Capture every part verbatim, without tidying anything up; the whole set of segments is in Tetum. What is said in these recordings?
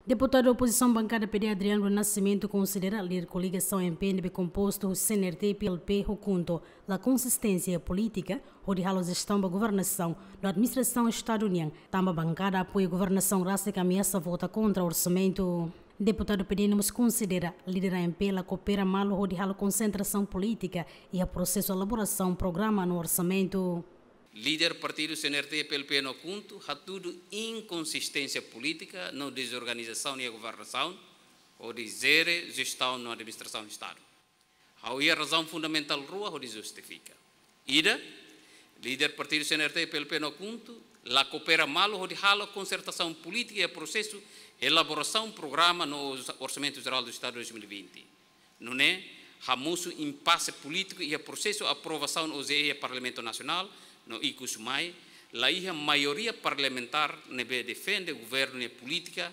Deputadu opozisaun bankada P D Adriano do Nascimento konsidera líder koligasaun M P ne'ebé kompostu husi C N R T, P L P ho KHUNTO la konsisténsia polítika hodi halo jestaun ba governasaun no administrasaun estadu nian, tanba bankada apoia governasaun rasik ameasa vota kontra orsamentu. Deputadu P D mós konsidera líder A M P la koopera malu hodi halo konsentrasaun polítika iha prosesu elaborasaun programa no orsamentu. Líder partidu C N R T, P L P no KHUNTO hatudu inkonsisténsia polítika no dezorganizasaun iha governasaun hodi jere jestaun no administrasaun estadu. Ha'u iha razaun fundamentál rua hodi justifika. Ida, líder partidu C N R T, P L P no KHUNTO la koopera malu hodi halo konsertasaun polítika iha prosesu elaborasaun programa no ors-, Orsamentu Jerál do Estadu dois mil e vinte. Nune'e hamosu impase polítiku iha prosesu aprovasaun O J E iha Parlamentu Nasionál no ikus mai la iha maioria parlamentár ne'ebé defende governu nia polítika,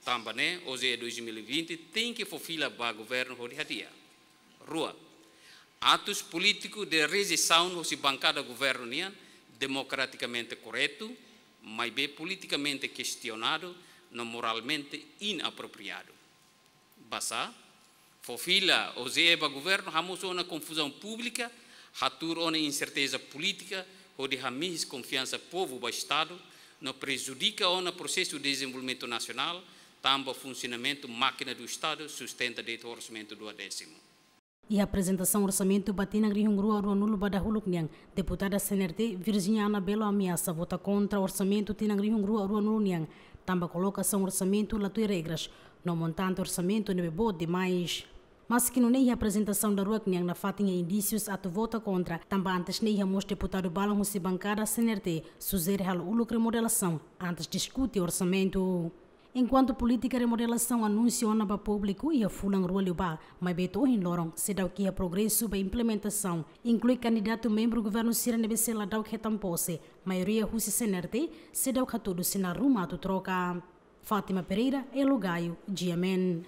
tanba ne'e O J E dois mil e vinte tenke fó fila ba governu hodi hadi'a. Rua, atus polítiku de rejeisaun hosi bankada governu nian demokratikamente korretu, maibé politikamente kestionadu no moralmente inapropriadu. Basá, fó fila O J E ba governu hamosu ona konfuzaun públika, hatuur ona inserteza polítika, hodi hamihis konfiansa povu ba estadu, no prejudika ona prosesu dezenvolvimentu nasionál, tanba funsionamentu mákina do estadu sustenta de'it orsamentu duodésimu. Iha aprezentasaun orsamentu ba tinan rihun rua ruanulu ba dahuluk nian, deputada C N R T Virginia Anabelo ameasa vota kontra orsamentu tinan rihun rua ruanulu nian, tanba kolokasaun orsamentu la tuir regras, no montante orsamentu ne'ebé boot demais. Maski nune'e, iha aprezentasaun daruak nian nafatin iha indísius atu vota kontra, tanba antes ne'e iha mós deputadu balun husi bankada C N R T sujere halo uluk remodelasaun antes diskute orsamentu. Enkuantu polítika remodelasaun anunsia ona ba públiku iha fulan rua liubá, maibé to'o ohin loron seidauk iha progresu ba implementasaun, inklui kandidatu membru governu sira ne'ebé sei ladauk hetan pose, maioria husi C N R T, seidauk hatudu sinál ruma atu troka. Fátima Pereira, Elo Gaio, G M N.